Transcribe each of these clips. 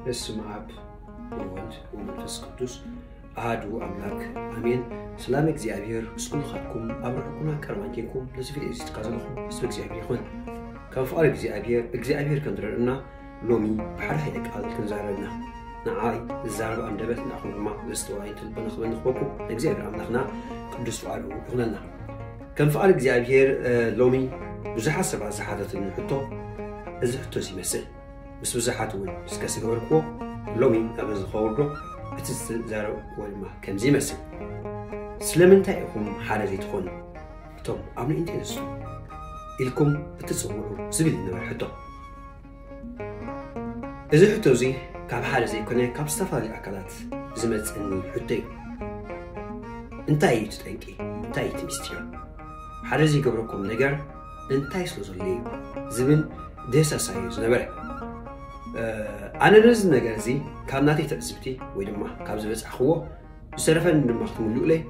በስመ አብ ወወልድ ወመንፈስ ቅዱስ አሐዱ አምላክ አሜን። ሰላም እግዚኣብሔር ምስ ኩልኻትኩም ኣብ ርሑቅና ቀርባን ኬንኩም ነዚ ቪድዮ እዚ ትከታተልኹም ህዝቢ እግዚኣብሔር ይኹን። ከም ፍቓድ እግዚኣብሔር እግዚኣብሔር ከም ዝረድእና ሎሚ ብሓደ ሓይለ ቃል ክንዛረብ ኢና። ንዓይ ዝዛረብ ኣንደበት ንዓኹም ድማ ዘስተዋይ ልቢ ንኽበን ንኽበኩም እግዚኣብሔር ኣምላኽና ቅዱስ ፍቓዱ ይኹነልና። ከም ፍቓድ እግዚኣብሔር ሎሚ ብዙሓት ሰባት ዝሓተትኒ ሕቶ እዚ ሕቶ እዚ ይመስል። ምስ ብዙሓት እውን ዲስከስ ዝገበርክዎ ሎሚ ኣብ እዚ ከወርዶ እቲ ዝተዛረብክዎ ድማ ከምዚ ይመስል። ስለምንታይ ኢኹም ሓደ ዘይትኾኑ እቶም ኣብ ንእንቴንስቱ ኢልኩም እትፅውዑ ዝብል እዩ ነበረ ሕቶ። እዚ ሕቶ እዚ ካብ ሓደ ዘይኮነ ካብ ዝተፈላለዩ ኣካላት ዝመፅእኒ ሕቶ እዩ። እንታይ እዩ እቲ ጠንቂ? እንታይ እዩ እቲ ሚስጢር? ሓደ ዘይገብረኩም ነገር እንታይ ስለ ዘሎ እዩ ዝብል ደሳሳ እዩ ዝነበረ። ኣነ ነዚ ነገር እዚ ካብ ናተይ ትዕዝብቲ ወይ ድማ ካብ ዝበፃዕክዎ ዝተረፈኒ ድማ ክትምልኡለይ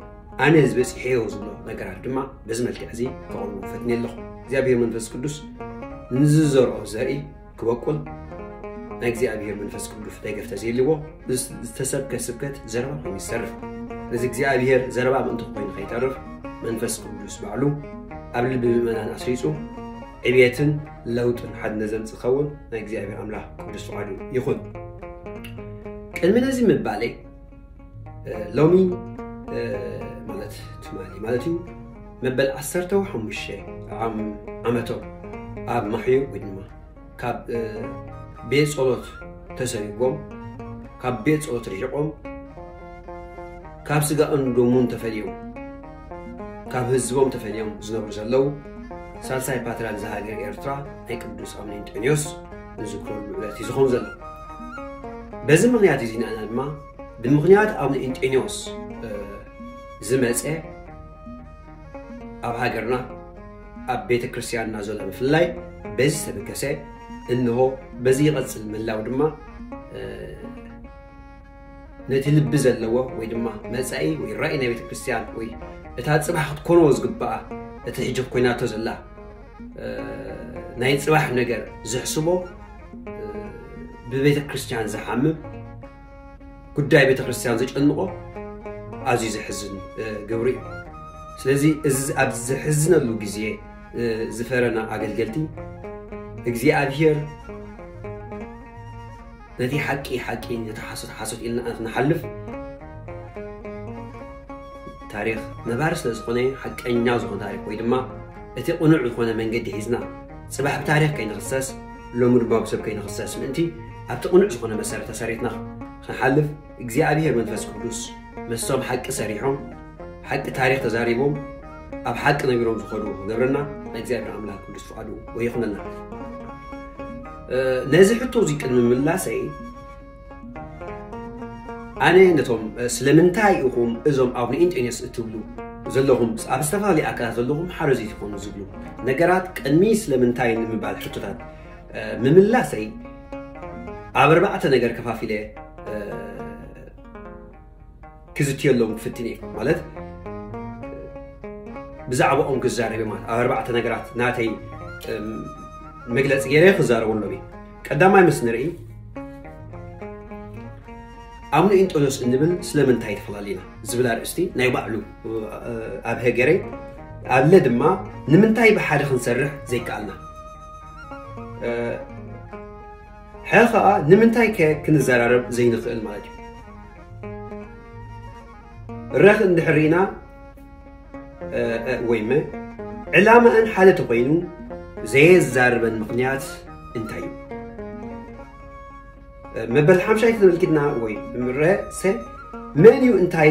ኣነ ዝበፂሐዮ ዝብሎ ነገራት ድማ በዚ መልክዕ እዚ ከቕርቡ ፈትኒ ኣለኹ። እግዚኣብሔር መንፈስ ቅዱስ ንዝዘርኦ ዘርኢ ክበቁል ናይ እግዚኣብሔር መንፈስ ቅዱስ ደገፍ ተዘይልዎ ዝተሰብከ ስብከት ዘረባ ኮይኑ ይሰርፍ። ነዚ እግዚኣብሔር ዘረባ ምእንቲ ኮይኑ ከይተርፍ መንፈስ ቅዱስ ባዕሉ ኣብ ልቢ ምእመናን ኣስሪፁ ዕብየትን ለውጥን ሓድነት ዘምፅእ ክኸውን ናይ እግዚኣብሔር ኣምላኽ ቅዱስ ፍቓዱ ይኹን። ቅድሚ ነዚ ምባለይ ሎሚ ማለት ትማሊ ማለት እዩ መበል ዓሰርተ ሓሙሽተ ዓመቶም ኣብ ማሕዩ ወይ ድማ ካብ ቤት ጸሎት ተሰሪጎም ካብ ቤት ጸሎት ርሒቆም ካብ ስጋኡን ደሙን ተፈልዮም ካብ ህዝቦም ተፈልዮም ዝነብሩ ዘለዉ ሳልሳይ ፓትርያርክ ዝሃገር ኤርትራ ናይ ቅዱስ ኣምኒንጦንዮስ ንዝክረሉ ዕለት እዩ ዝኾን ዘሎ። በዚ ምኽንያት እዚ ንኣና ድማ ብምኽንያት ኣቡነ እንጦንዮስ ዝመፀ ኣብ ሃገርና ኣብ ቤተ ክርስቲያንና ዘሎ ምፍላይ በዚ ዝተበገሰ እንሆ በዚ ይቐፅል ምላው ድማ ነቲ ልቢ ዘለዎ ወይ ድማ መፃኢ ወይ ራእይ ናይ ቤተ ክርስቲያን ወይ እታ ፅባሕ ክትኮኖ ዝግበኣ እቲ ሕጂ ኮይናቶ ዘላ ናይ ፅባሕ ነገር ዝሕስቦ ብቤተ ክርስቲያን ዝሓምም ጉዳይ ቤተ ክርስቲያን ዘጨንቆ ኣዝዩ ዘሕዝን ግብሪ እዩ። ስለዚ እዚ ኣብ ዘሕዝነሉ ግዜ ዝፈረና ኣገልገልቲ እግዚኣብሔር ነቲ ሓቂ ሓቂ ነቲ ሓሶት ሓሶት ኢልና ንሓልፍ ታሪኽ ነባሪ ስለ ዝኾነ ሓቀኛ ዝኾነ ታሪኽ ወይ ድማ እቲ ቅኑዕ ዝኾነ መንገዲ ሒዝና ፅባሕ ብታሪኽ ከይንኽሰስ ሎሚ ድማ ብሰብ ከይንኽሰስ ምእንቲ ኣብቲ ቅኑዕ ዝኾነ መሰረት ተሰሪትና ክንሓልፍ እግዚኣብሔር መንፈስ ቅዱስ ምስቶም ሓቂ ሰሪሖም ሓቂ ታሪኽ ተዛሪቦም ኣብ ሓቂ ነቢሮም ዝኸዱ ክገብረና ናይ እግዚኣብሔር ኣምላኽ ቅዱስ ፍቓዱ ወይኹነልና። ነዚ ሕቶ እዚ ቅድሚ ምላሰይ ኣነ ነቶም ስለምንታይ ኢኹም እዞም ኣብ ንኢንጤንዮስ እትብሉ ዘለኹም ኣብ ዝተፈላለዩ ኣካላት ዘለኹም ሓደ ዘይትኾኑ ዝብሉ ነገራት ቅድሚ ስለምንታይ ንምባል ሕቶታት ምምላሰይ ኣብ ኣርባዕተ ነገር ከፋፊለ ክዝትየሎም ክፍትን እየ ማለት ብዛዕባኦም ክዛረብ ማለት ኣብ ኣርባዕተ ነገራት ናተይ መግለፂ ገይረ ክዛረበሎም እየ። ቀዳማይ ምስ ንርኢ ኣቡነ እንጦንዮስ እንብል ስለምንታይ ተፈላለዩና ዝብል ኣርእስቲ ናይ ባዕሉ ኣብ ሀገሬ ኣለ ድማ ንምንታይ ብሓደ ክንሰርሕ ዘይከኣልና ሐ ከዓ ንምንታይ ከ ክንዘራረብ ዘይንኽእል ማለት እዩ። ረኽ እንድሕር ርኢና ወይመ ዕላማእን ሓደ ተኮይኑ ዘየዛርበን ምኽንያት እንታይ እዩ? መበል ሓምሻይ ተመልኪትና ወይ ምረሰ መን እዩ እንታይ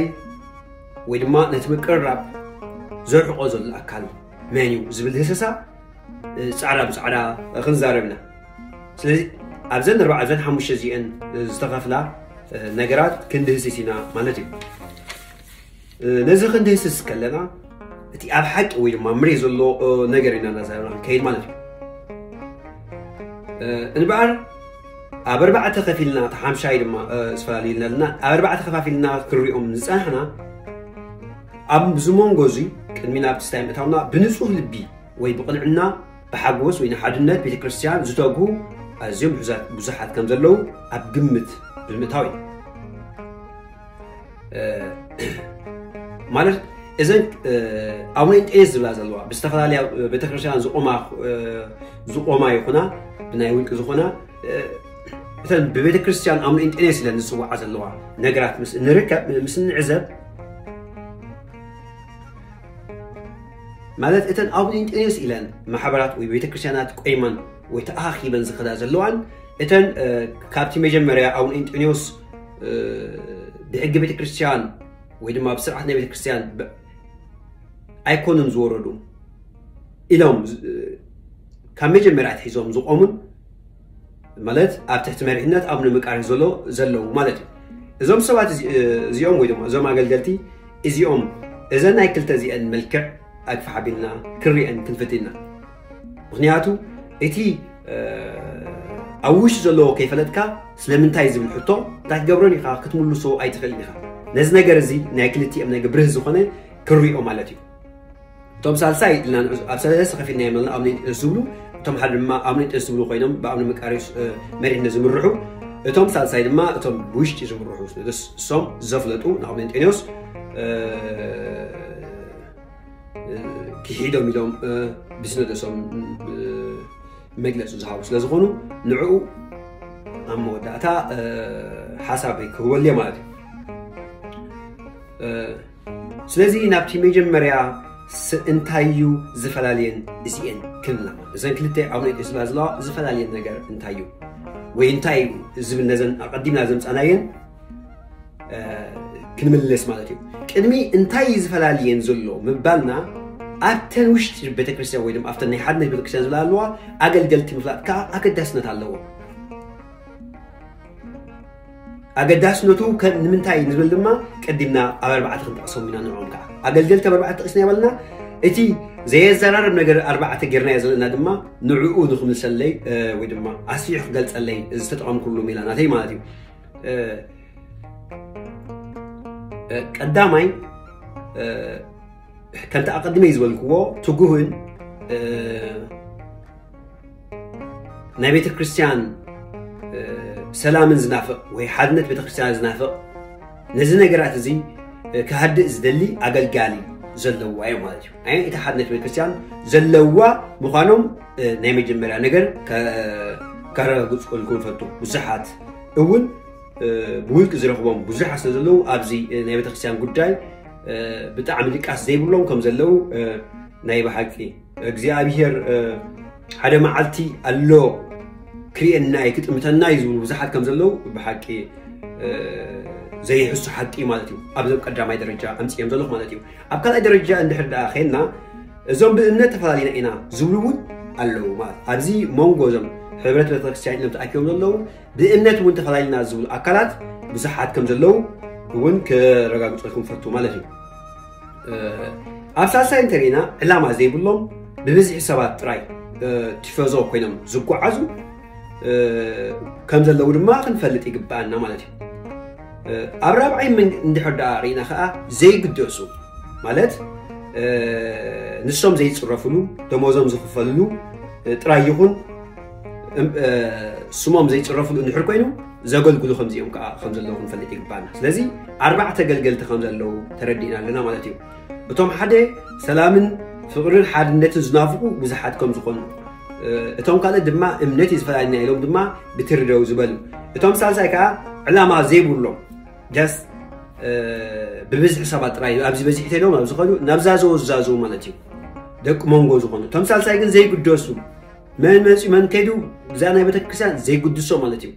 ወይ ድማ ነቲ ምቅርራብ ዘርሕቆ ዘሎ ኣካል መን እዩ ዝብል ህሰሳ ፃዕዳ ብፃዕዳ ክንዛረብ ኢና። ስለዚ ኣብዘን ኣርባዓ ኣብዘን ሓሙሽተ እዚአን ዝተኸፍላ ነገራት ክንድህስስ ኢና ማለት እዩ። ነዚ ክንድህስስ ከለና እቲ ኣብ ሓቂ ወይ ድማ ምሬ ዘሎ ነገር ኢና እናዛረብና ክንከይድ ማለት እዩ። እንበኣር ኣብ ኣርባዕተ ከፊልና እቲ ሓምሻይ ድማ ዝተፈላለዩ ኣለና ኣብ ኣርባዕተ ከፋፊልና ክንሪኦም ዝፀናሕና ኣብዚ መንጎ እዚ ቅድሚ ናብቲ ስታይ ምእታውና ብንፁህ ልቢ ወይ ብቕንዕና ብሓጎስ ወይ ንሓድነት ቤተ ክርስቲያን ዝተግሁ ኣዝዮም ብዙሓት ከም ዘለዉ ኣብ ግምት ብምእታው እዩ። ማለት እዘን ኣቡነ እንጤንስ ዝብላ ዘለዋ ብዝተፈላለያ ቤተክርስትያን ዝቆማ ይኹና ብናይ ውልቂ ዝኾና እተን ብቤተክርስትያን ኣቡነ እንጤንስ ኢለን ዝፅዋዓ ዘለዋ ነገራት ንርከብ ምስ ንዕዘብ ማለት እተን ኣቡነ እንጤንስ ኢለን ማሕበራት ወይ ቤተክርስትያናት ቆይመን ወይ ተኣኻኺበን ዝኸዳ ዘለዋን እተን ካብቲ መጀመርያ ኣቡነ እንጤንዮስ ብሕጊ ቤተክርስትያን ወይ ድማ ብስርዓት ናይ ቤተክርስትያን ኣይኮኑን ዝወረዱ ኢሎም ካብ መጀመርያ ኣትሒዞም ዝቆሙን ማለት ኣብ ትሕቲ መሪሕነት ኣቡነ መቃርዮስ ዘሎ ዘለዉ ማለት እዩ። እዞም ሰባት እዚኦም ወይ ድማ እዞም ኣገልገልቲ እዚኦም እዘን ናይ ክልተ እዚአን መልክዕ ኣግፋሕ ኣቢልና ክንሪአን ክንፍትንና ምክንያቱ እቲ ኣብ ውሽጢ ዘለዎ ከይፈለጥካ ስለምንታይ ዝብል ሕቶ እንታይ ክገብሮን ኢኻ ክትምልሶ ኣይትኽእልን ኢኻ። ነዚ ነገር እዚ ናይ ክልቲኦም ነገር ብርህ ዝኾነ ክሪኦ ማለት እዩ። እቶም ሳልሳይ ኢልና ኣብ ሰለስተ ከፊልና የመልና ኣብ ነይንጥንስ ዝብሉ እቶም ሓደ ድማ ኣብ ነይንጥንስ ዝብሉ ኮይኖም ብኣምኒ መቃሪስ መሪሕነት ዝምርሑ እቶም ሳልሳይ ድማ እቶም ብውሽጢ ዝምርሑ እሶም ዘፍለጡ ንኣብ ነንጤኒዮስ ክሒዶም ኢሎም ብስነደሶም መግለፂ ዝሃቡ ስለዝኾኑ ንዕኡ ኣብ መወዳእታ ሓሳብ ክህበሉ ማለት እዩ። ስለዚ ናብቲ መጀመርያ እንታይ እዩ ዝፈላለየን እዚኤን ክልና እዘን ክልተ ኣብ ናይ ስላ ዘለዋ ዝፈላለየን ነገር እንታይ እዩ ወይ እንታይ እዩ ዝብል ነዘን ኣቐዲምና ዘምፃናየን ክንምልስ ማለት እዩ። ቅድሚ እንታይ እዩ ዝፈላለየን ዘሎ ምባልና ኣብተን ውሽጢ ቤተክርስትያን ወይ ድማ ኣብተን ናይ ሓድነት ቤተክርስትያን ዝብላ ኣለዋ ኣገልገልቲ ምፍላጥ ከዓ ኣገዳስነት ኣለዎ። ኣገዳስነቱ ንምንታይ ንብል ድማ ቀዲምና ኣብ ኣርባዕተ ክንጠቕሶም ኢና ንዕኦም ከዓ ኣገልገልቲ ኣብ ኣርባዕተ ጠቂስና ይበልና። እቲ ዘየዘራርብ ነገር ኣርባዕተ ጌርናዮ ዘለና ድማ ንዕኡ ንክምልሰለይ ወይ ድማ ኣስፊሑ ክገልፀለይ ዝተጠቐምኩሉ ሜላ ናተይ ማለት እዩ። ቀዳማይ ከምቲ ኣቐድመይ ዝበልክዎ ትጉህን ናይ ቤተ ክርስቲያን ሰላምን ዝናፍቕ ወይ ሓድነት ቤተ ክርስቲያን ዝናፍቕ ነዚ ነገራት እዚ ክሃድእ ዝደሊ ኣገልጋሊ ዘለዋ እዩ ማለት እዩ። እቲ ሓድነት ቤተ ክርስቲያን ዘለዋ ምዃኖም ናይ መጀመርያ ነገር ከረጋግፅልኩም ፈቱ። ብዙሓት እውን ብውልቂ ዝረኽቦም ብዙሓት ስለ ዘለዉ ኣብዚ ናይ ቤተክርስትያን ጉዳይ ብጣዕሚ ድቃስ ዘይብሎም ከም ዘለዉ ናይ ብሓቂ እግዚኣብሔር ሓደ መዓልቲ ኣሎ ክርእየና እዩ ክጥምተና እዩ ዝብሉ ብዙሓት ከም ዘለዉ ብሓቂ ዘይሕሱ ሓቂ ማለት እዩ። ኣብዞም ቀዳማይ ደረጃ ኣምፅኦም ዘለኹ ማለት እዩ። ኣብ ካልኣይ ደረጃ እንድሕር ደኣ ኸይድና እዞም ብእምነት ተፈላለና ኢና ዝብሉ እውን ኣለዉ ማለት ኣብዚ መንጎ እዞም ሕብረት ቤተክርስትያን ኢሎም ተኣኪቦም ዘለዉ ብእምነት እውን ተፈላለና ዝብሉ ኣካላት ብዙሓት ከም ዘለዉ እውን ክረጋግፀልኩም ፈቱ ማለት እዩ። ኣብ ሳልሳይ እንተሪእና ዕላማ ዘይብሎም ብብዝሒ ሰባት ጥራይ ቲፈዞ ኮይኖም ዝጓዓዙ ከም ዘለዉ ድማ ክንፈልጥ ይግባኣና ማለት እዩ። ኣብ ራብዓይ እንድሕር ደኣ ርኢና ከዓ ዘይግደሱ ማለት ንሶም ዘይፅረፍሉ ደሞዞም ዝኽፈልሉ ጥራይ ይኹን ስሞም ዘይፅረፍሉ እንድሕር ኮይኑ ዘገልግሉ ከምዚኦም ከዓ ከም ዘለዉ ክንፈልጥ ይግባና። ስለዚ ኣርባዕተ ገልገልቲ ከም ዘለዉ ተረዲእና ኣለና ማለት እዩ። እቶም ሓደ ሰላምን ፍቕርን ሓድነትን ዝናፍቁ ብዙሓት ከም ዝኾኑ እቶም ካልእ ድማ እምነት እዩ ዝፈላለና ኢሎም ድማ ብትርደው ዝበሉ እቶም ሳልሳይ ከዓ ዕላማ ዘይብሎም ጃስ ብብዝሒ ሰባት ጥራይ ኣብዚ በዚሒ ተሎም ኣብ ዝኸዱ ናብዛ ዘወዛዝቡ ማለት እዩ። ደቂ መንጎ ዝኾኑ እቶም ሳልሳይ ግን ዘይግደሱ መን መፂኡ መን ከይዱ እዛ ናይ ቤተክርስትያን ዘይግድሶ ማለት እዩ።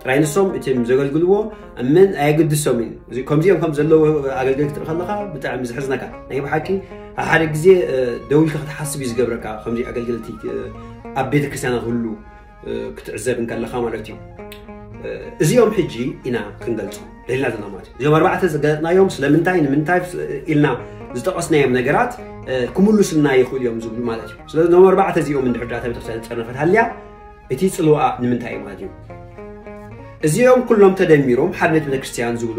ጥራይ ንሶም እቲ ዘገልግልዎ መን ኣየግድሶም እዩ። ከምዚኦም ከም ዘለዉ ኣገልገልቲ ትርኢ ከለካ ብጣዕሚ ዝሕዝነካ ናይ ብሓቂ ሓደ ግዜ ደዊልካ ክትሓስብ እዩ ዝገብረካ። ከምዚ ኣገልገልቲ ኣብ ቤተክርስትያን ክህሉ ክትዕዘብ እንከለካ ማለት እዩ። እዚኦም ሕጂ ኢና ክንገልፆ ደሊና ዘለና ማለት እዩ። እዚኦም ኣርባዕተ ዝገለፅናዮም ስለምንታይ ንምንታይ ኢልና ዝጠቐስናዮም ነገራት ክምሉስልና ይኽእሉ እዮም ዝብሉ ማለት እዩ። ስለዚ ኖም ኣርባዕተ እዚኦም እንድሕር ዳታ ቤተክርስትያን ዝፀርነፈት ሃልያ እቲ ፅልዋኣ ንምንታይ እዩ ማለት እዩ። እዚኦም ኩሎም ተደሚሮም ሓድነት ቤተክርስትያን ዝብሉ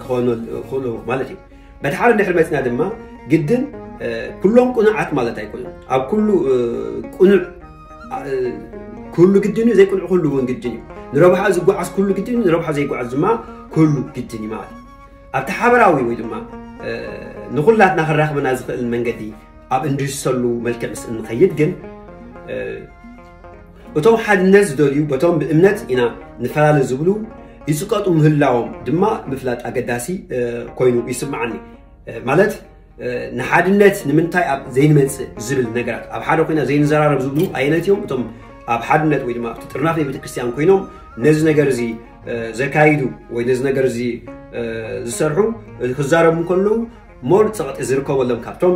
ክኾኑ ማለት እዩ። በቲ ሓደ እንድሕር መፅና ድማ ግድን ኩሎም ቁኑዓት ማለት ኣይኮኑን። ኣብ ኩሉ ቁኑዕ ክህሉ ግድን እዩ። ዘይቅኑዕ ክህሉ እውን ግድን እዩ። ንረብሓ ዝጓዓዝ ክህሉ ግድን እዩ። ንረብሓ ዘይጓዓዝ ድማ ክህሉ ግድን እዩ ማለት እዩ። ኣብቲ ሓበራዊ ወይ ድማ ንኩላትና ክራኽበና ዝኽእል መንገዲ ኣብ እንድህሰሉ መልክዕ ምስ እንኸይድ ግን እቶም ሓድነት ዝደልዩ በቶም ብእምነት ኢና ንፈላለ ዝብሉ ይፅቀጡ ምህላዎም ድማ ምፍላጥ ኣገዳሲ ኮይኑ ይስምዓኒ። ማለት ንሓድነት ንምንታይ ኣብ ዘይንመፅእ ዝብል ነገራት፣ ኣብ ሓደ ኮይና ዘይንዘራረብ ዝብሉ ኣየነት እዮም? እቶም ኣብ ሓድነት ወይ ድማ ኣብቲ ጥርናፍ ናይ ቤተክርስትያን ኮይኖም ነዚ ነገር እዚ ዘካይዱ ወይ ነዚ ነገር እዚ ዝሰርሑ ክዛረቡ ከለዉ ሞር ፀቕጢ ዝርከበሎም ካብቶም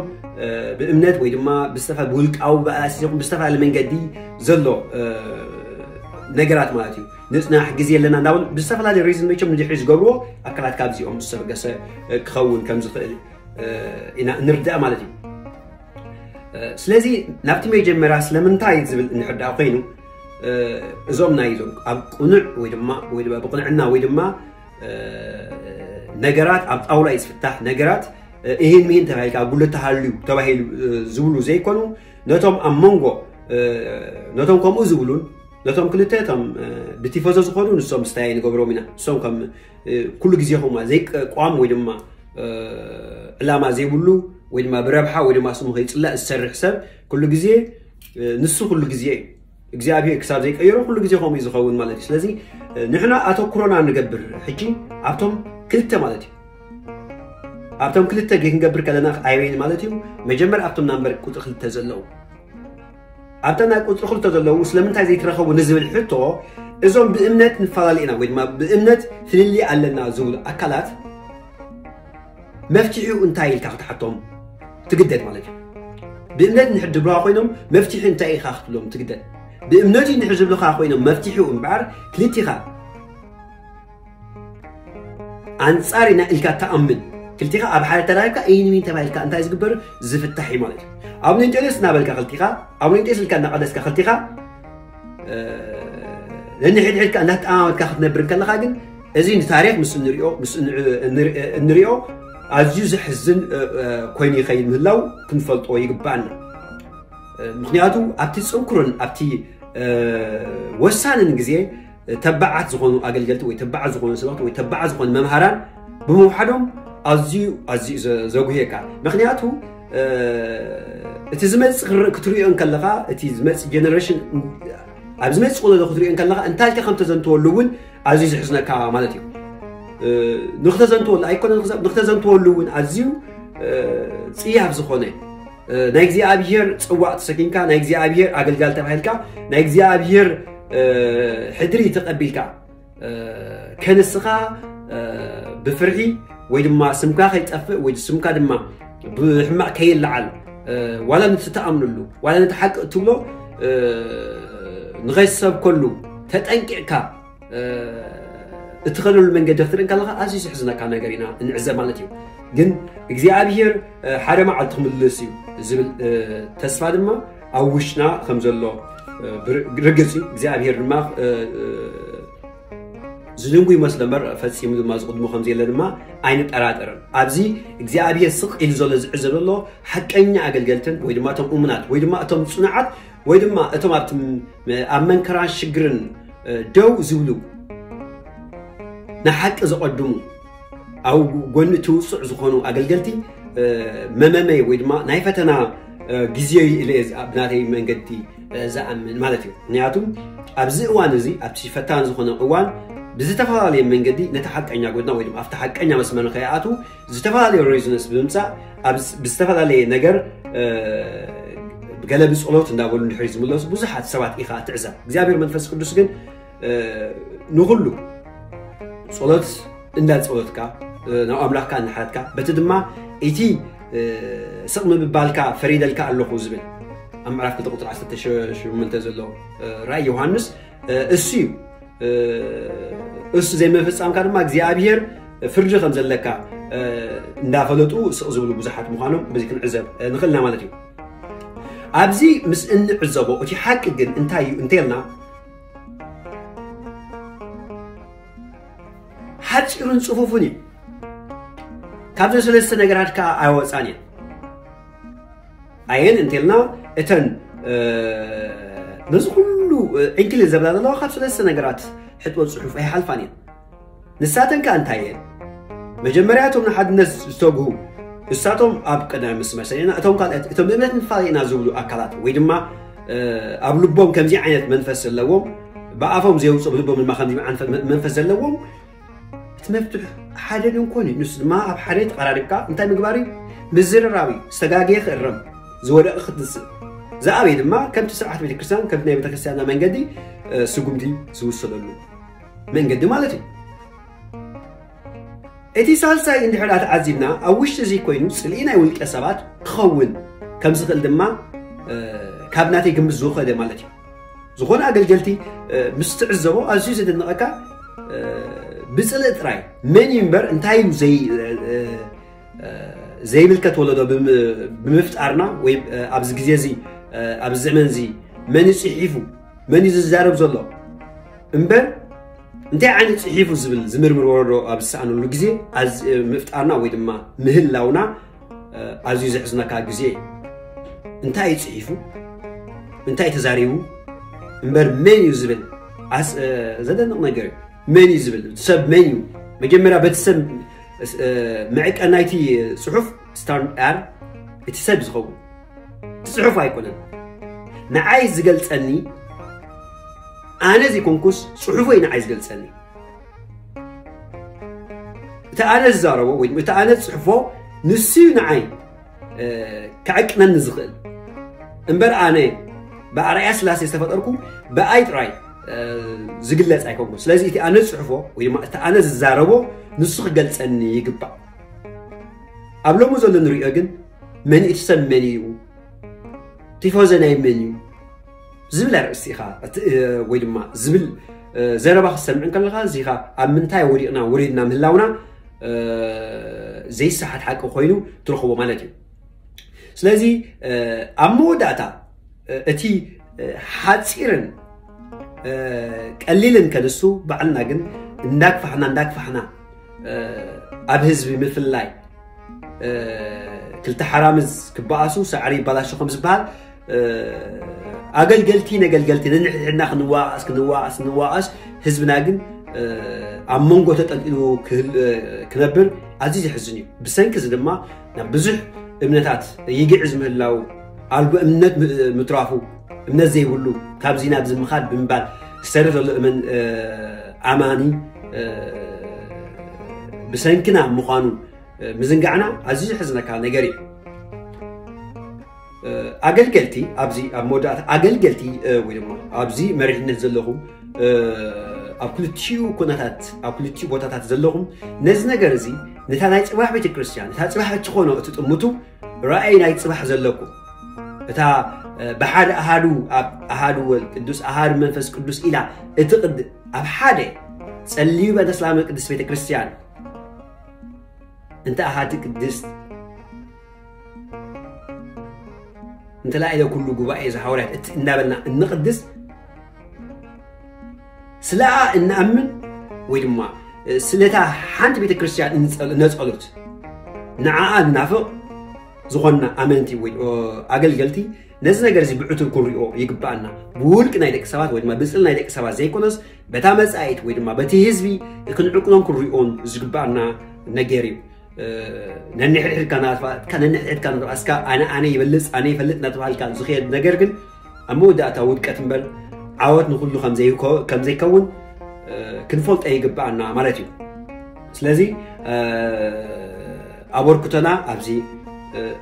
ብእምነት ወይ ድማ ብዝተፈ ብውልቃዊ ብኣላሲ ይኹን ብዝተፈላለየ መንገዲ ዘሎ ነገራት ማለት እዩ። ንፅናሕ ግዜ ኣለና እንዳበሉ ብዝተፈላለየ ሪዝን መቸም ንድሕሪ ዝገብርዎ ኣካላት ካብዚኦም ዝተበገሰ ክኸውን ከም ዝኽእል ኢና እንርዳእ ማለት እዩ። ስለዚ ናብቲ መጀመርያ ስለምንታይ ዝብል እንሕዳእ ኮይኑ እዞም ናይ እዞም ኣብ ቁኑዕ ወይ ድማ ወይ ድማ ብቅንዕና ወይ ድማ ነገራት ኣብ ጣውላ እዩ ዝፍታሕ። ነገራት እሂን ምሂን ተባሂልካ ጉልት ተሃልዩ ተባሂሉ ዝብሉ ዘይኮኑ ነቶም ኣብ መንጎ ነቶም ከምኡ ዝብሉን ነቶም ክልተ እቶም ብቲፎዞ ዝኾኑ ንሶም ስታይ ንገብሮም ኢና። ንሶም ከም ኩሉ ግዜ ኹማ ዘይቋም ወይ ድማ ዕላማ ዘይብሉ ወይ ድማ ብረብሓ ወይ ድማ ስሙ ከይፅላእ ዝሰርሕ ሰብ ኩሉ ግዜ ንሱ ኩሉ ግዜ እዩ። እግዚኣብሔር ክሳብ ዘይቀየሮ ኩሉ ግዜ ከምኡ እዩ ዝኸውን ማለት እዩ። ስለዚ ንሕና ኣተኩሮና ንገብር ሕጂ ኣብቶም ክልተ ማለት እዩ። ኣብቶም ክልተ ግዜ ክንገብር ከለና ኣይበይን ማለት እዩ። መጀመር ኣብቶም ናምበር ቁፅሪ ክልተ ዘለዉ ኣብታ ናይ ቁፅሪ ክልተ ዘለዉ ስለምንታይ ዘይትረኸቡ ንዝብል ሕቶ እዞም ብእምነት ንፈላለ ኢና ወይ ድማ ብእምነት ፍልልይ ኣለና ዝብሉ ኣካላት መፍትሒኡ እንታይ ኢልካ ክትሓቶም ትግደድ ማለት እዩ። ብእምነት እንድሕር ድብልዋ ኮይኖም መፍትሒ እንታይ ኢኻ ክትብሎም ትግደድ። ብእምነት እዩ እንድሕር ዝብልኻ ኮይኖም መፍትሒኡ እምበኣር ክልቲኻ ኣንጻር ኢና ኢልካ ተኣምን ክልቲኻ ኣብ ሓደ ተራኺብካ ኢንሚን ተባሂልካ እንታይ ዝግበር ዝፍታሕ እዩ ማለት እዩ። ኣብ ንንጨለስ እናበልካ ክልቲኻ ኣብ ንንጨስ ኢልካ እናቐደስካ ክልቲኻ ነንሕድሕድካ እናተኣማመትካ ክትነብር እንከለኻ ግን እዚ ንታሪክ ምስ እንሪኦ ኣዝዩ ዘሕዝን ኮይኑ ይኸይድ ምህላው ክንፈልጦ ይግባኣና። ምክንያቱ ኣብቲ ፅንኩርን ኣብቲ ወሳንን ግዜ ተባዓት ዝኾኑ ኣገልገልቲ ወይ ተባዓት ዝኾኑ ሰባክቲ ወይ ተባዓት ዝኾኑ መምሃራን ብምውሓዶም ኣዝዩ ኣዝዩ ዘጉህየካ። ምክንያቱ እቲ ዝመፅእ ክትሪኦ እንከለኻ እቲ ዝመፅእ ጀነሬሽን ኣብ ዝመፅእ ወለዶ ክትሪኦ እንከለኻ እንታይ ኢልካ ከም ተዘንትወሉ እውን ኣዝዩ ዝሕዝነካ ማለት እዩ። ንክተዘንትወሉ ኣይኮነ ንክተዘንትወሉ እውን ኣዝዩ ፅያፍ ዝኾነ ናይ እግዚኣብሔር ፅዋዕ ተሰኪምካ ናይ እግዚኣብሔር ኣገልጋል ተባሂልካ ናይ እግዚኣብሔር ሕድሪ ተቐቢልካ ከንስኻ ብፍርሒ ወይ ድማ ስምካ ከይጠፍእ ወይ ስምካ ድማ ብሕማቕ ከይለዓል ዋላ ነቲ ትኣምንሉ ዋላ ነቲ ሓቂ እትብሎ ንኸይሰብከሉ ተጠንቂቕካ እትኸደሉ መንገዲ ክትርኢ እንከለኻ ኣዝዩ ዝሕዝነካ ነገር ኢና እንዕዘብ ማለት እዩ። ግን እግዚኣብሔር ሓደ መዓልቲ ክምልስ እዩ ዝብል ተስፋ ድማ ኣብ ውሽጥና ከም ዘሎ ርግፅ እዩ። እግዚኣብሔር ድማ ዝድንጉ ይመስሎ እምበር ፈፂሙ ድማ ዝቕድሞ ከም ዘየለ ድማ ኣይንጠራጠርን። ኣብዚ እግዚኣብሔር ስቕ ኢሉ ዘሎ ዝዕዘብ ዘሎ ሓቀኛ ኣገልገልትን ወይ ድማ እቶም እሙናት ወይ ድማ እቶም ፅኑዓት ወይ ድማ እቶም ኣብቲ ኣብ መንከራን ሽግርን ደው ዝብሉ ንሓቂ ዘቐድሙ ኣብ ጎኒ እቲ ውፁዕ ዝኾኑ ኣገልገልቲ መመመይ ወይ ድማ ናይ ፈተና ግዜ እዩ ኢለ እየ ብናተይ መንገዲ ዝኣምን ማለት እዩ። ምክንያቱ ኣብዚ እዋን እዚ ኣብቲ ፈታን ዝኾነ እዋን ብዝተፈላለየ መንገዲ ነቲ ሓቀኛ ጎድና ወይ ድማ ኣብቲ ሓቀኛ መስመር ንኸይኣትዉ ዝተፈላለዩ ሬዝነስ ብምምፃእ ብዝተፈላለየ ነገር ገለ ብፀሎት እንዳበሉ እንድሕር ዝምለሱ ብዙሓት ሰባት ኢኻ ትዕዘብ። እግዚኣብሔር መንፈስ ቅዱስ ግን ንኩሉ ፀሎት እንዳፀሎትካ ናብ ኣምላኽካ እናሓለትካ በቲ ድማ እቲ ስቕ ምብባልካ ፈሪደልካ ኣለኹ ዝብል ኣብ ምዕራፍ ክልተ ቁፅሪ ዓሰርተ ሸሞንተ ዘሎ ራእይ ዮሃንስ እሱ እዩ። እሱ ዘይምፍፃምካ ድማ እግዚኣብሔር ፍርዲ ከም ዘለካ እንዳፈለጡ ስቕ ዝብሉ ብዙሓት ምዃኖም በዚ ክንዕዘብ ንኽእልና ማለት እዩ። ኣብዚ ምስ እንዕዘቦ እቲ ሓቂ ግን እንታይ እዩ እንተልና ሓፂሩን ፅፉፉን እዩ። ካብዚ ሰለስተ ነገራት ከዓ ኣይወፃን እየን። ኣየን እንተልና እተን ነዚ ኩሉ ዕንክሊል ዘብላ ዘለዋ ካብ ሰለስተ ነገራት ሕጥቦ ጽሑፍ ኣይሓልፋን እየን። ንሳተን ከኣ እንታይ እየን? መጀመርያ እቶም ንሓድነት ዝተግሁ፣ እሳቶም ኣብ ቀዳሚ መስመር ሰሪዕና፣ እቶም ካልኦት፣ እቶም ብእምነት ንፈላለ ኢና ዝብሉ ኣካላት፣ ወይ ድማ ኣብ ልቦም ከምዚ ዓይነት መንፈስ ዘለዎም፣ ብኣፎም ዘየውፅኦ ብልቦም ድማ ከምዚ ዓይነት መንፈስ ዘለዎም፣ እቲ መፍትሕ ሓደ ድንኮን እዩ። ንሱ ድማ ኣብ ሓደ ተቐራሪብካ እንታይ ምግባር እዩ? ምዝርራብ እዩ። ዝተጋገየ ክእረም፣ ዝወደቐ ክትንስእ፣ ዝኣበየ ድማ ከምቲ ስርዓት ቤተክርስትያን፣ ከምቲ ናይ ቤተክርስትያንና መንገዲ ስጉምቲ ዝውሰደሉ መንገዲ ማለት እዩ። እቲ ሳልሳይ እንድሕር ተዓዚብና፣ ኣብ ውሽጢ እዚ ኮይኑ ጽልኢ ናይ ውልቀ ሰባት ክኸውን ከም ዝኽእል ድማ ካብ ናተይ ግምት ዝወኸደ ማለት እዩ። ዝኾነ ኣገልገልቲ ምስ ትዕዘቦ ኣዝዩ ዘደንቐካ፣ ብጽልኢ ጥራይ መን እዩ እምበር እንታይ እዩ ዘይ ዘይምልከት ወለዶ ብምፍጣርና፣ ወይ ኣብዚ ግዜ እዚ ኣብዚ ዘመን እዚ መን እዩ ጽሒፉ፣ መን እዩ ዝዛረብ ዘሎ እምበር እንታይ ዓይነት ጽሒፉ ዝብል ዝምርምር ወለዶ ኣብ ዝሰኣነሉ ግዜ ምፍጣርና ወይ ድማ ምህላውና ኣዝዩ ዘሕዝነካ ግዜ እዩ። እንታይ እዩ ጽሒፉ፣ እንታይ ተዛሪቡ እምበር መን እዩ ዝብል ዘደንቕ ነገር እዩ። መን እዩ ዝብል ሰብ መን እዩ? መጀመርያ በቲ ሰብ መዕቀን ናይቲ ጽሑፍ ስታንዳር እቲ ሰብ ዝኸውን እቲ ጽሑፍ ኣይኮነን። ንዓይ ዝገልጸኒ፣ ኣነ ዘይኮንኩስ ጽሑፈይ ንዓይ ዝገልጸኒ። እቲ ኣነ ዝዛረቦ ወይ እቲ ኣነ ዝጽሕፎ ንሱ እዩ ንዓይ ክዕቅነኒ ዝኽእል እምበር ኣነ ብኣርኣያ ስላሴ ዝተፈጠርኩ ብኣይ ጥራይ ዝግለጽ ኣይኮንኩን። ስለዚ እቲ ኣነ ዝጽሕፎ ወይ ድማ እቲ ኣነ ዝዛረቦ ንሱ ክገልጸኒ ይግባእ። ኣብ ሎሚ ዘሎ ንሪኦ ግን መን እቲ ሰብ መን እዩ፣ ቲፎዘ ናይ መን እዩ ዝብል ኣርእስቲ ኢኻ ወይ ድማ ዝብል ዘረባ ክትሰምዕ እንከለኻ እዚኻ ኣብ ምንታይ ወዲቕና ወሪድና ምህላውና ዘይሰሓት ሓቂ ኮይኑ ትረኽቦ ማለት እዩ። ስለዚ ኣብ መወዳእታ እቲ ሓፂርን ቀሊልን ከንሱ ባዕልና ግን እንዳግፋሕና እንዳግፋሕና ኣብ ህዝቢ ምፍላይ ክልተ ሓራምዝ ክበኣሱ ሳዕሪ ይባላሾ ከም ዝበሃል ኣገልገልቲ ነገልገልቲ ነንሕድሕድና ክንዋቀስ ክንዋቀስ ክንዋቀስ ህዝብና ግን ኣብ መንጎ ተጠልጢሉ ክነብር ኣዝዩ ዘሕዝን እዩ። ብሰንኪ እዚ ድማ ናብ ብዙሕ እምነታት ይግዕዝ ምህላው ኣልቦ እምነት ምትራፉ እምነት ዘይብሉ ካብዚ ናብዚ ምኻድ ብምባል ዝሰርሕ ዘሎ እመን ኣማኒ ብሰንክና ምዃኑ ምዝንጋዕና ኣዝዩ ዘሕዝነካ ነገር እዩ። ኣገልገልቲ ኣብዚ ኣብ መወዳእታ ኣገልገልቲ ወይ ድማ ኣብዚ መሪሕነት ዘለኹም ኣብ ክልቲኡ ኩነታት ኣብ ክልቲኡ ቦታታት ዘለኹም ነዚ ነገር እዚ ነታ ናይ ፅባሕ ቤተክርስትያን ነታ ፅባሕ እትኾኖ እቲ ጥምቱ ራእይ ናይ ፅባሕ ዘለኩም እታ ብሓደ ኣሃዱ ኣብ ኣሃዱ ወልድ ቅዱስ ኣሃዱ መንፈስ ቅዱስ ኢላ እቲ ቅድ ኣብ ሓደ ጸልዩ በእንተ ሰላም ቅድስት ቤተክርስትያን እንተ ኣሃቲ ቅድስት እንተ ላዕለ ኩሉ ጉባኤ ዘሓዋርያት እቲ እናበልና እንቕድስ ስለኣ እንኣምን ወይ ድማ ስለታ ሓንቲ ቤተክርስትያን እነጸሉት ንዓኣ እናፍቕ ዝኾንና ኣመንቲ ወይ ኣገልገልቲ ነዚ ነገር እዚ ብዕቱብ ክንሪኦ ይግባኣና። ብውልቂ ናይ ደቂ ሰባት ወይ ድማ ብፅል ናይ ደቂ ሰባት ዘይኮነስ በታ መፃኢት ወይ ድማ በቲ ህዝቢ ክንዕቅኖን ክንሪኦን ዝግባኣና ነገር እዩ። ነንሕድሕድካ ናትባእካ ነንሕድሕድካ ናትባእስካ ኣነ ኣነ ይበልፅ ኣነ ይፈልጥ ናተባሃልካ ዝኸየድ ነገር ግን ኣብ መወዳእታ ውድቀት እምበር ዓወት ንኩሉ ከም ዘይከውን ክንፈልጦ ይግባኣና ማለት እዩ። ስለዚ ኣበርክቶና ኣብዚ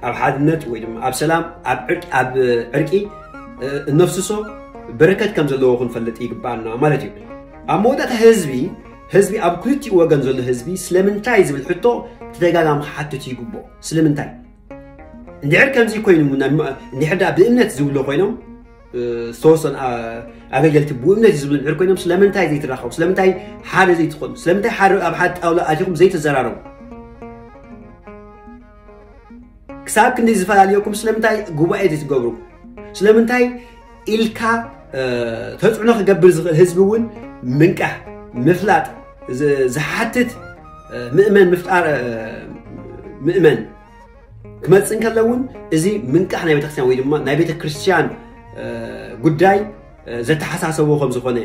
ኣብ ሓድነት ወይ ድማ ኣብ ሰላም ኣብ ዕርቂ እነፍስሶ በረከት ከም ዘለዎ ክንፈልጥ ይግባኣና ማለት እዩ። ኣብ መወዳእታ ህዝቢ ህዝቢ ኣብ ክልቲኡ ወገን ዘሎ ህዝቢ ስለምንታይ ዝብል ሕቶ ተደጋጋሚ ክሓትት ይግብኦ። ስለምንታይ እንድሕር ከምዚ ኮይኑ እንድሕር ዳ ብእምነት ዝብሎ ኮይኖም ዝተወሰኑ ኣገልገልቲ ብእምነት እዩ ዝብሉ እንድሕር ኮይኖም ስለምንታይ ዘይትራኸቡ ስለምንታይ ሓደ ዘይትኾኑ ስለምንታይ ሓደ ኣብ ሓደ ጣውላ ኣቲኹም ዘይተዘራረቡ ክሳብ ክንዲ ዝፈላለየኩም ስለምንታይ ጉባኤ ዘይትገብሩ ስለምንታይ ኢልካ ተፅዕኖ ክገብር ዝኽእል ህዝቢ እውን ምንቃሕ ምፍላጥ ዝሓትት ምእመን ምፍጣር ምእመን ክመፅእ እንከሎ እውን እዚ ምንቃሕ ናይ ቤተክርስትያን ወይ ድማ ናይ ቤተክርስትያን ጉዳይ ዘተሓሳሰቦ ከም ዝኾነ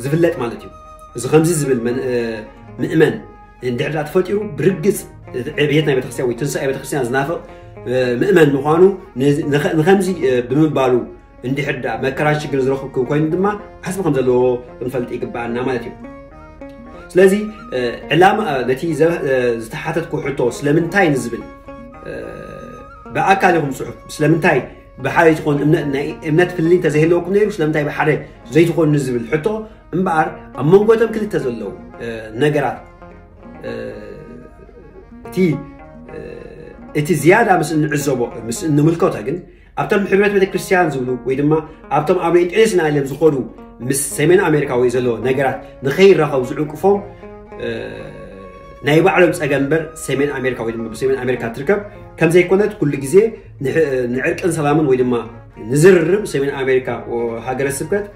ዝፍለጥ ማለት እዩ። እዚ ከምዚ ዝብል ምእመን እንድሕር ዳ ተፈጢሩ፣ ብርግጽ ዕብየት ናይ ቤተክርስትያን ወይ ትንሳኤ ቤተክርስትያን ዝናፍቕ ምእመን ምዃኑ፣ ንኸምዚ ብምባሉ እንድሕር ዳ መከራን ሽግርን ዝረኽብ ኮይኑ ድማ ዓስቢ ከም ዘለዎ ክንፈልጥ ይግባኣና ማለት እዩ። ስለዚ ዕላማ ነቲ ዝተሓተትኩ ሕቶ ስለምንታይ ንዝብል፣ ብኣካል ይኹን ጽሑፍ ስለምንታይ ብሓደ ትኾን እምነት ፍልልይ እንተዘይህለወኩም ነይሩ ስለምንታይ ብሓደ ዘይትኾኑ ንዝብል ሕቶ እምበኣር፣ ኣብ መንጎ እቶም ክልተ ዘለዉ ነገራት እቲ እቲ ዝያዳ ምስ እንዕዘቦ ምስ እንምልከቶ ግን ኣብቶም ሕብረት ቤተክርስትያን ዝብሉ ወይ ድማ ኣብቶም ኣብ ሬንጤንስ ናይለም ዝኸዱ ምስ ሰሜን ኣሜሪካ ወይ ዘለዎ ነገራት ንኸይራኸቡ ዝዕንቅፎም ናይ ባዕሎም ጸገም እምበር ሰሜን ኣሜሪካ ወይ ድማ ብሰሜን ኣሜሪካ ትርከብ ከም ዘይኮነት ኩሉ ግዜ ንዕርቅን ሰላምን ወይ ድማ ንዝርርብ ሰሜን ኣሜሪካ ሃገረ ስብከት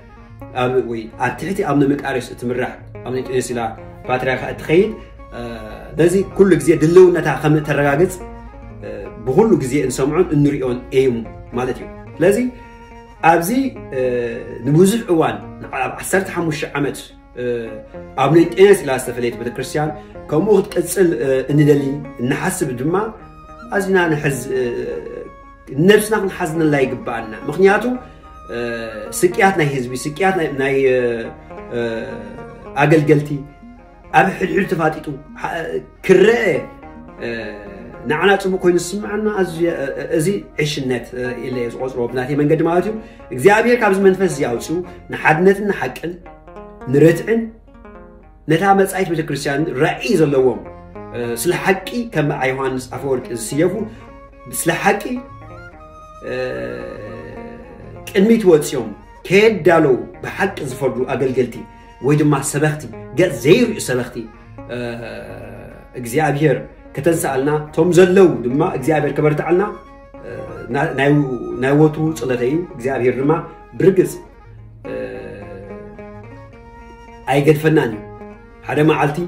ወይ ኣብ ትሕቲ ኣብ ንምቃርስ እትምራሕ ኣብ ሬንጤንስ ኢላ ፓትርያርካ እትኸይድ ነዚ ኩሉ ግዜ ድልውነታ ከም እተረጋግጽ ብኩሉ ግዜ እንሰምዖን እንሪኦን እዩ ማለት እዩ። ስለዚ ኣብዚ ንብዙሕ እዋን ንዓል ኣብ ዓሰርተ ሓሙሽተ ዓመት ኣብ ሬንጤንስ ኢላ ዝተፈለየት ቤተክርስትያን ከምኡ ክትቅጽል እንደሊ እንሓስብ ድማ ኣዝና ንሕዝ ነብስና ክንሓዝነላ ይግባኣና። ምክንያቱ ስቅያት ናይ ህዝቢ፣ ስቅያት ናይ ኣገልገልቲ ኣብ ሕድሕድ ተፋጢጡ ክረአ ንዓና ጽቡቅ ኮይኑ ዝስምዓና እዚ ዕሽነት ኢለ ዝቆጽሮ ብናተይ መንገዲ ማለት እዩ። እግዚኣብሔር ካብዚ መንፈስ እዚ ኣውፅኡ ንሓድነትን ንሓቅን ንርትዕን ነታ መጻኢት ቤተክርስትያን ራእይ ዘለዎም ስለ ሓቂ ከም ዮሃንስ ኣፈወርቂ ዝስየፉ ስለ ሓቂ ቅድሚት ወፂኦም ከየዳለው ብሓቂ ዝፈርዱ ኣገልገልቲ ወይ ድማ ሰበኽቲ ገፅ ዘይርእዩ ሰበኽቲ እግዚኣብሔር ከተንስኣልና ቶም ዘለው ድማ እግዚኣብሔር ከበርትዓልና ናይ ወትሩ ፀሎተይ እዩ። እግዚኣብሔር ድማ ብርግፅ ኣይገድፈናን እዩ። ሓደ መዓልቲ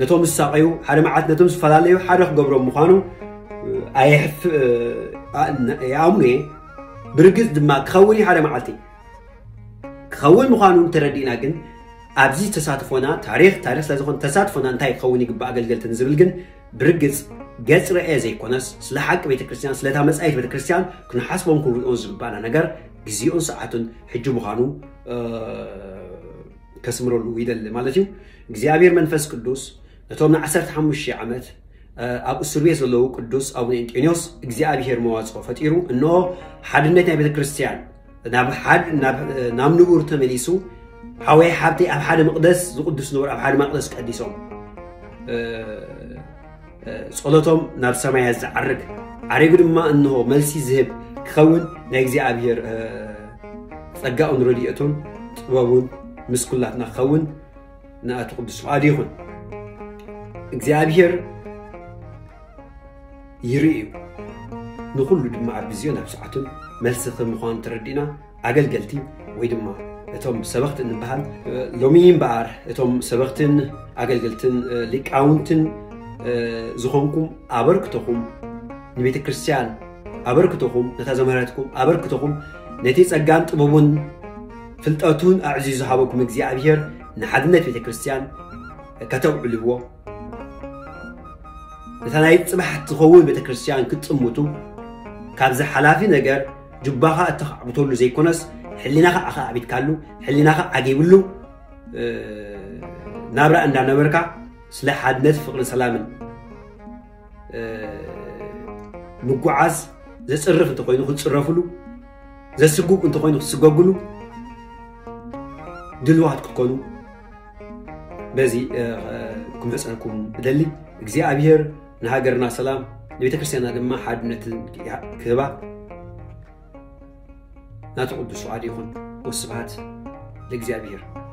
ነቶም ዝሳቐዩ ሓደ መዓልቲ ነቶም ዝፈላለዩ ሓደ ክገብሮም ምዃኑ ኣየሕፍ ይኣምኑ እየ። ብርግፅ ድማ ክኸውን እዩ ሓደ መዓልቲ ክኸውን ምዃኑ ተረዲእና ግን ኣብዚ ተሳትፎና ታሪክ ታሪክ ስለዝኾነ ተሳትፎና እንታይ ክኸውን ይግባእ ኣገልገልትን ዝብል ግን ብርግፅ ገፅ ረኤ ዘይኮነስ ስለ ሓቂ ቤተክርስትያን ስለታ መፃኢት ቤተክርስትያን ክንሓስቦን ክንርድኦን ዝግባእና ነገር ግዜኡን ሰዓቱን ሕጂ ምዃኑ ከስምረሉ ይደሊ ማለት እዩ። እግዚኣብሔር መንፈስ ቅዱስ ነቶም ንዓሰርተ ሓሙሽተ ዓመት ኣብ እስር ቤት ዘለዉ ቅዱስ ኣቡነ እንጦንዮስ እግዚኣብሔር መዋፅኦ ፈጢሩ እንሆ ሓድነት ናይ ቤተክርስትያን ናብ ንቡር ተመሊሱ ሓወይ ሓብተይ ኣብ ሓደ መቅደስ ዝቅዱስ ነበር ኣብ ሓደ መቅደስ ቀዲሶም ጸሎቶም ናብ ሰማያት ዝዓርግ ዓሪጉ ድማ እንሆ መልሲ ዝህብ ክኸውን ናይ እግዚኣብሔር ጸጋኡን ረድኤቱን ጥበቡን ምስ ኩላትና ክኸውን ንኣቱ ቅዱስ ፍቓዱ ይኹን። እግዚኣብሔር ይርኢ እዩ። ንኹሉ ድማ ኣብ ግዜኡን ኣብ ሰዓቱን መልሲ ከም ምዃኑ ተረዲእና ኣገልገልቲ ወይ ድማ እቶም ሰበኽቲ እንበሃል ሎሚ እምበኣር እቶም ሰበኽትን ኣገልገልትን ሊቃውንትን ዝኾንኩም ኣበርክቶኹም ንቤተ ክርስቲያን ኣበርክቶኹም ነታ ዘምህረትኩም ኣበርክቶኹም ነቲ ጸጋን ጥበቡን ፍልጠቱን ኣዕዚዙ ዝሃበኩም እግዚኣብሔር ንሓድነት ቤተ ክርስቲያን ከተውዕልዎ ነታ ናይ ጽባሕ ትኸውን ቤተ ክርስቲያን ክትጽምቱ ካብዚ ሓላፊ ነገር ጅባኻ እተኻዕብተሉ ዘይኮነስ ሕሊናኻ ኣኻዕቢትካሉ ሕሊናኻ ዓጊብሉ ናብራ እንዳነበርካ ስለ ሓድነት ፍቕርን ሰላምን ምጉዓዝ ዘጽርፍ እንተኾይኑ ክትጽረፍሉ ዘስጉግ እንተኾይኑ ክትስገግሉ ድልዋት ክትኮኑ በዚ ክምሕፀንኩም እደሊ። እግዚኣብሔር ንሃገርና ሰላም ንቤተክርስትያንና ድማ ሓድነትን ክህባ ናቱ ቅዱስ ፍቓድ ይኹን። ወስብሐት ለእግዚኣብሔር።